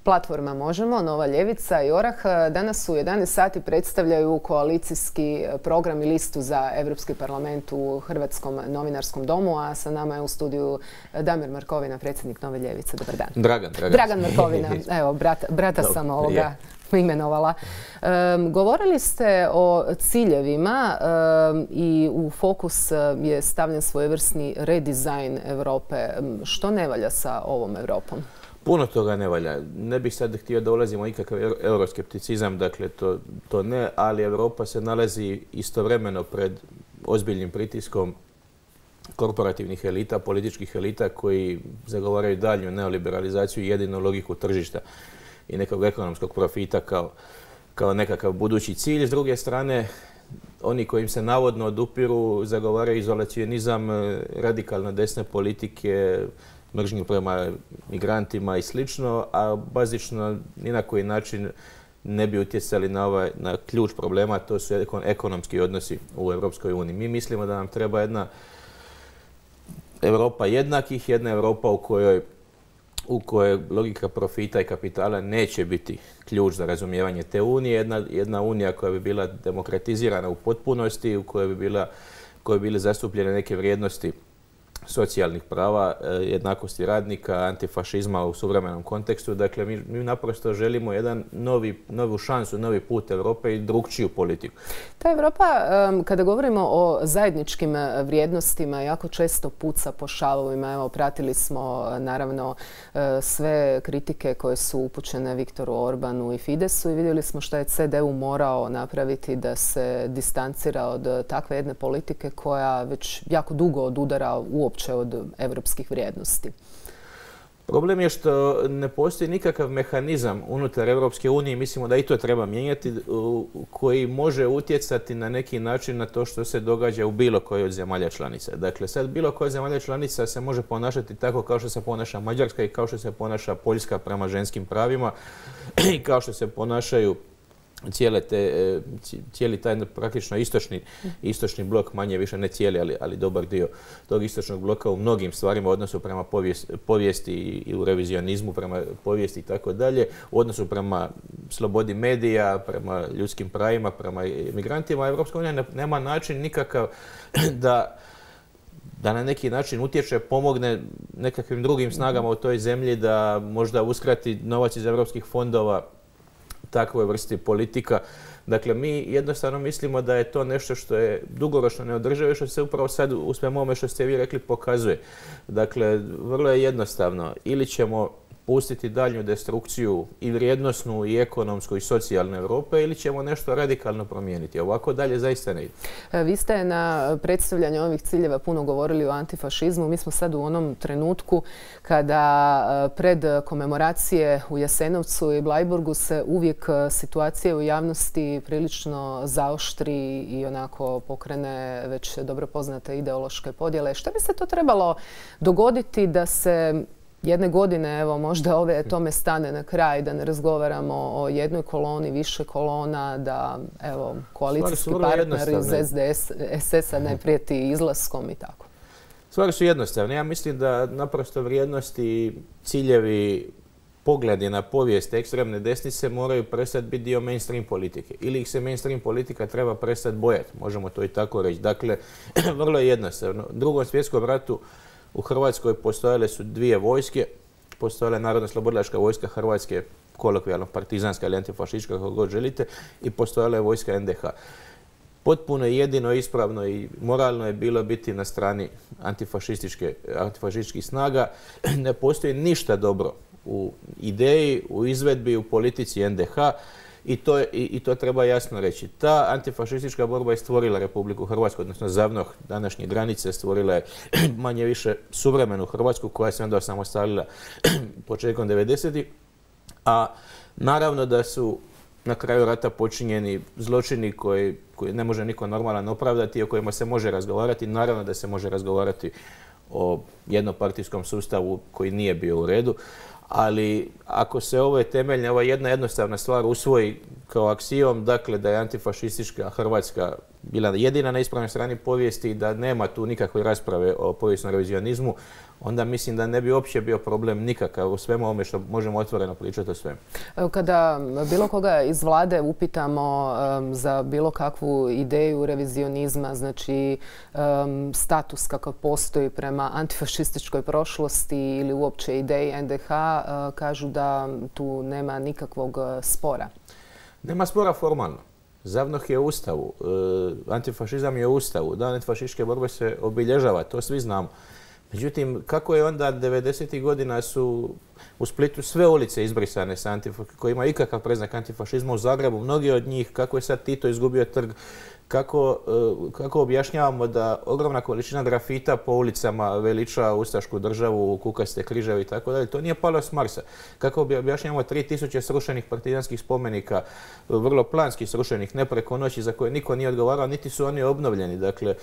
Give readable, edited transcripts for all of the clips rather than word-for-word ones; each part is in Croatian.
Platforma Možemo, Nova ljevica i Orah danas u 11 sati predstavljaju koalicijski program i listu za Europski parlament u Hrvatskom novinarskom domu, a sa nama je u studiju Damir Markovina, predsjednik Nove ljevice. Dobar dan. Dragan Markovina. Evo, brata sam imenovala. Govorili ste o ciljevima i u fokus je stavljen svojevrsni redizajn Europe. Što ne valja sa ovom Europom? Puno toga ne valja. Ne bih sad htio da ulazimo u ikakav euroskepticizam, dakle to ne, ali Europa se nalazi istovremeno pred ozbiljnim pritiskom korporativnih elita, političkih elita koji zagovaraju daljnju neoliberalizaciju i jedinu logiku tržišta i nekog ekonomskog profita kao nekakav budući cilj. S druge strane, oni kojim se navodno odupiru zagovaraju izolacionizam, radikalno desne politike, mržnju prema migrantima i slično, a bazično ni na koji način ne bi utjecali na ključ problema, to su ekonomski odnosi u Europskoj uniji. Mi mislimo da nam treba jedna Europa jednakih, jedna Europa u kojoj logika profita i kapitala neće biti ključ za razumijevanje te unije. Jedna unija koja bi bila demokratizirana u potpunosti, u kojoj bi bile zastupljene neke vrijednosti socijalnih prava, jednakosti radnika, antifašizma u suvremenom kontekstu. Dakle, mi naprosto želimo novu šansu, novi put Europe i drukčiju politiku. Ta Europa, kada govorimo o zajedničkim vrijednostima, jako često puca po šavovima. Evo, pratili smo naravno sve kritike koje su upućene Viktoru Orbanu i Fidesu i vidjeli smo što je CDU morao napraviti da se distancira od takve jedne politike koja već jako dugo odudara uopće od evropskih vrijednosti. Problem je što ne postoji nikakav mehanizam unutar Europske unije, mislimo da i to treba mijenjati, koji može utjecati na neki način na to što se događa u bilo kojoj od zemalja članica. Dakle, sad bilo koja zemalja članica se može ponašati tako kao što se ponaša Mađarska i kao što se ponaša Poljska prema ženskim pravima i kao što se ponašaju cijeli taj praktično istočni blok, manje više ne cijeli, ali dobar dio tog istočnog bloka u mnogim stvarima u odnosu prema povijesti i u revizionizmu, prema povijesti i tako dalje, u odnosu prema slobodi medija, prema ljudskim pravima, prema migrantima. Europska unija nema način nikakav da na neki način utječe, pomogne nekakvim drugim snagama u toj zemlji da možda uskrati novac iz europskih fondova takvoj vrsti politika. Dakle, mi jednostavno mislimo da je to nešto što je dugoročno neodrživo i što se upravo sad u svemu ovome što ste vi rekli pokazuje. Dakle, vrlo je jednostavno. Ili ćemo pustiti daljnju destrukciju i vrijednosnu i ekonomsku i socijalnu Europe ili ćemo nešto radikalno promijeniti. Ovako dalje zaista ne ide. Vi ste na predstavljanju ovih ciljeva puno govorili o antifašizmu. Mi smo sad u onom trenutku kada pred komemoracije u Jasenovcu i Bleiburgu se uvijek situacija u javnosti prilično zaoštri i onako pokrene već dobro poznate ideološke podjele. Što bi se to trebalo dogoditi da se jedne godine, evo možda tome stane na kraj, da ne razgovaramo o jednoj koloni, više kolona, da evo koalicijski partner iz SDS-a ne prijeti izlaskom i tako? Stvari su jednostavne. Ja mislim da naprosto vrijednosti, ciljevi, pogledi na povijest ekstremne desnice moraju prestati biti dio mainstream politike. Ili ih se mainstream politika treba prestati bojati, možemo to i tako reći. Dakle, vrlo je jednostavno. U Drugom svjetskom ratu u Hrvatskoj postojale su dvije vojske. Postojala je Narodno-slobodilačka vojska Hrvatske, kolokvijalno partizanska ili antifašistička, kako god želite, i postojala je vojska NDH. Potpuno jedino ispravno i moralno je bilo biti na strani antifašističkih snaga. Ne postoji ništa dobro u ideji, u izvedbi, u politici NDH. I to treba jasno reći. Ta antifašistička borba je stvorila Republiku Hrvatsku, odnosno ZAVNOH, današnje granice, stvorila je manje više suvremenu Hrvatsku koja se onda osamostalila početkom 90-ih. A naravno da su na kraju rata počinjeni zločini koji ne može niko normalan opravdati i o kojima se može razgovarati. Naravno da se može razgovarati o jednopartijskom sustavu koji nije bio u redu. Ali ako se ova jedna jednostavna stvar usvoji kao aksijom, dakle da je antifašistička Hrvatska bila jedina na ispravnoj strani povijesti i da nema tu nikakve rasprave o povijesnom revizionizmu, onda mislim da ne bi uopće bio problem nikakav u svemu ovome što možemo otvoreno pričati o svemu. Kada bilo koga iz vlade upitamo za bilo kakvu ideju revizionizma, znači status kakav postoji prema antifašističkoj prošlosti ili uopće ideji NDH, kažu da tu nema nikakvog spora. Nema spora formalno. ZAVNOH je u Ustavu, antifašizam je u Ustavu, dan antifašističke borbe se obilježava, to svi znamo. Međutim, kako je onda 90. godina su u Splitu sve ulice izbrisane koji imaju ikakav predznak antifašizma, u Zagrebu, mnogi od njih, kako je sad Tito izgubio trg, kako objašnjavamo da ogromna količina grafita po ulicama veliča ustašku državu, kukaste križeve i tako dalje. To nije palo s Marsa. Kako objašnjavamo 3000 srušenih partizanskih spomenika, vrlo planski srušenih, ne preko noći, za koje niko nije odgovarao, niti su oni obnovljeni. Dakle,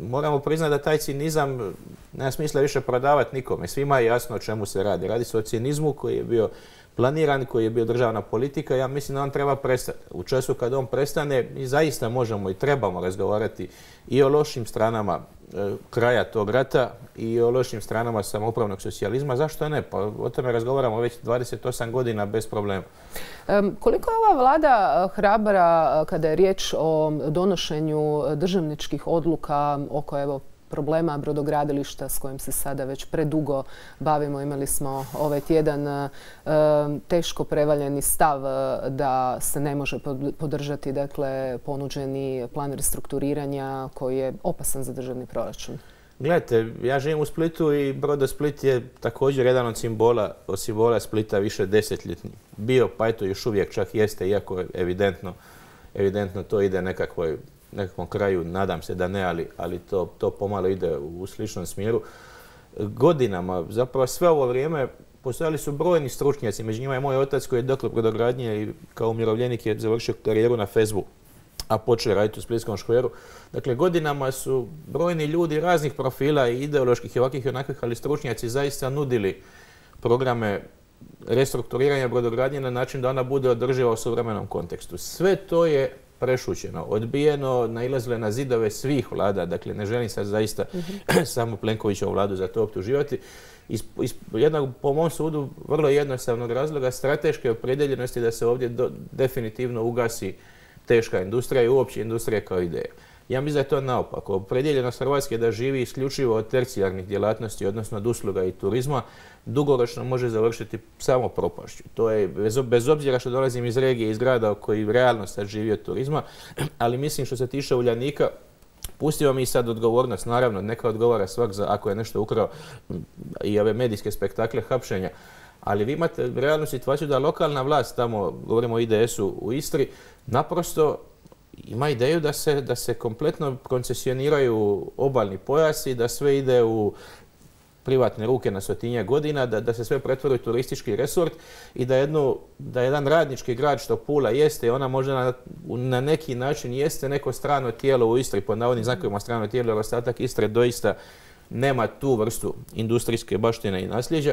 moramo priznati da taj cinizam nema smisla više prodavati nikome. Svima je jasno o čemu se radi. Radi se o cinizmu koji je bio planiran, koji je bio državna politika. Ja mislim da on treba prestati. U času kad on prestane, mi zaista možemo i trebamo razgovarati i o lošim stranama kraja tog rata i o lošim stranama samoupravnog socijalizma. Zašto ne? Pa o tome razgovaramo već 28 godina bez problema. Koliko je ova vlada hrabra kada je riječ o donošenju državničkih odluka oko problema brodogradilišta s kojim se sada već predugo bavimo? Imali smo ovaj tjedan teško prevaljeni stav da se ne može podržati ponuđeni plan restrukturiranja koji je opasan za državni proračun. Gledajte, ja živim u Splitu i Brodosplit je također jedan od simbola Splita više desetljetni. Bio, pa eto još uvijek čak jeste, iako je evidentno to ide nekakvom kraju, nadam se da ne, ali to pomalo ide u sličnom smjeru. Godinama, zapravo sve ovo vrijeme, postojali su brojni stručnjaci, među njima je moj otac koji je doktor brodogradnje i kao umirovljenik je završio karijeru na FESB-u, a počeo raditi u Splitskom škveru. Dakle, godinama su brojni ljudi raznih profila i ideoloških i ovakvih i onakvih, ali stručnjaci zaista nudili programe restrukturiranja brodogradnje na način da ona bude održiva u suvremenom kontekstu. Sve to je prešućeno, odbijeno, nailazile na zidove svih vlada. Dakle, ne želim sad zaista samo Plenkovićevu vladu za to optuživati. Iz jednog, po mom sudu, vrlo jednostavnog razloga strateške opredjeljenosti da se ovdje definitivno ugasi teška industrija i uopće industrija kao ideja. Ja mislim da je to naopako. Opredjeljenost Hrvatske da živi isključivo od tercijarnih djelatnosti, odnosno od usluga i turizma, dugoročno može završiti samo propašću. To je, bez obzira što dolazim iz regije, iz grada koji realno sad živi od turizma, ali mislim što se tiče Uljanika, pustimo mi sad odgovornost, naravno, neka odgovara svak za ako je nešto ukrao i ove medijske spektakle hapšenja. Ali vi imate realnu situaciju da lokalna vlast, tamo govorimo o IDS-u u Istri, naprosto ima ideju da se kompletno koncesioniraju obalni pojasi, da sve ide u privatne ruke na 100-tinjak godina, da se sve pretvori u turistički resort i da jedan radnički grad što Pula jeste, ona možda na neki način jeste neko strano tijelo u Istri, pod navodnim znakovima strano tijelo, jer ostatak Istre doista nema tu vrstu industrijske baštine i nasljeđa.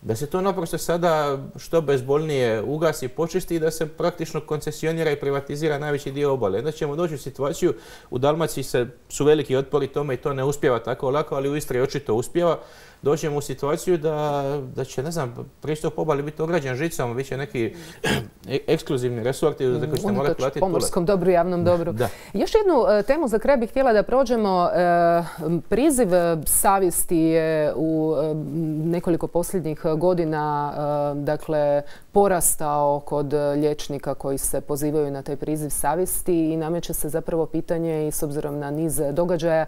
Da se to naprosto sada što bezbolnije ugasi, počisti i da se praktično koncesionira i privatizira najveći dio obale. Onda ćemo doći u situaciju, u Dalmaciji su veliki otpori tome i to ne uspijeva tako lako, ali u Istri očito uspijeva. Doćemo u situaciju da će, ne znam, pristup obali biti ograđen žicom, bit će neki ekskluzivni resorti za koji ćete morati platiti pomorskom dobru, javnom dobru. Da. Još jednu temu za kraj bih htjela da prođemo. Priziv savjesti je u nekoliko posljednjih godina porastao kod liječnika koji se pozivaju na taj priziv savjesti i nameće se zapravo pitanje i s obzirom na niz događaja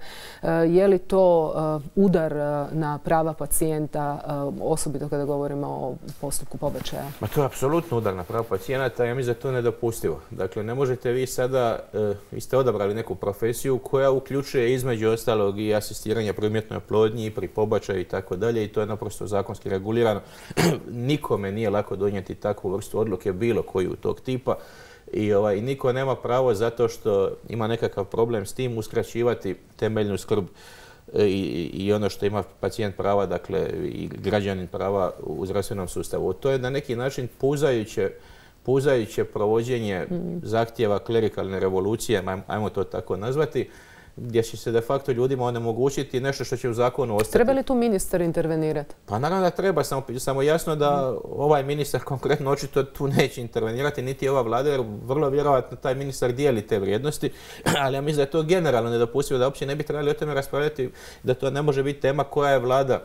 je li to udar na prava pacijenta, osobito kada govorimo o postupku pobačaja? Ma to je apsolutno udar na prava pacijenata, ja mislim da to je nedopustivo. Dakle, ne možete vi sada, vi ste odabrali neku profesiju koja uključuje između ostalog i asistiranje pri umjetnoj oplodnji, pri pobačaju i tako dalje i to je naprosto zakonski regulirano. Nikome nije lako donijeti takvu vrstu odluke bilo koju tog tipa i niko nema pravo zato što ima nekakav problem s tim uskraćivati temeljnu skrb i ono što ima pacijent prava, dakle i građanin prava u zdravstvenom sustavu. To je na neki način puzajuće provođenje zahtjeva klerikalne revolucije, ajmo to tako nazvati, gdje će se de facto ljudima onemogućiti nešto što će u zakonu ostati. Treba li tu ministar intervenirati? Pa naravno da treba, samo jasno da ovaj ministar konkretno očito tu neće intervenirati, niti ova vlada, jer vrlo vjerojatno taj ministar dijeli te vrijednosti, ali ja mislim da je to generalno nedopustivo, da uopće ne bi trebali o tome raspravljati, da to ne može biti tema koja je vlada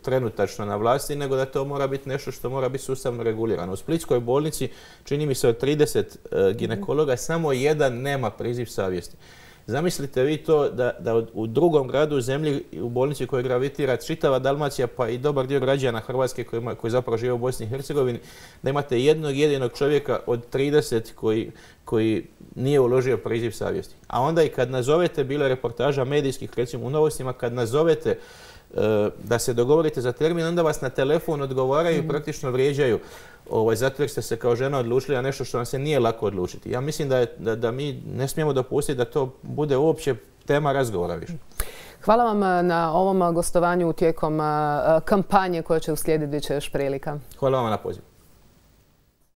trenutačno na vlasti, nego da to mora biti nešto što mora biti sustavno regulirano. U Splitskoj bolnici, čini mi se od 30 ginekologa, samo jedan nema priziv savjesti. Zamislite vi to da u drugom gradu u zemlji, u bolnici koju gravitira čitava Dalmacija, pa i dobar dio građana Hrvatske koji zapravo žive u Bosni i Hercegovini, da imate jednog jedinog čovjeka od 30 koji nije uložio priziv savjesti. A onda i kad nazovete, bilo je reportaža medijskih, recimo u Novostima, kad nazovete da se dogovorite za termin, onda vas na telefon odgovaraju i praktično vrijeđaju zato jer ste se kao žena odlučili na nešto što vam se nije lako odlučiti. Ja mislim da mi ne smijemo dopustiti da to bude uopće tema razgovora više. Hvala vam na ovom gostovanju tijekom kampanje koja će uslijediti, bit će još prilika. Hvala vam na pozivu.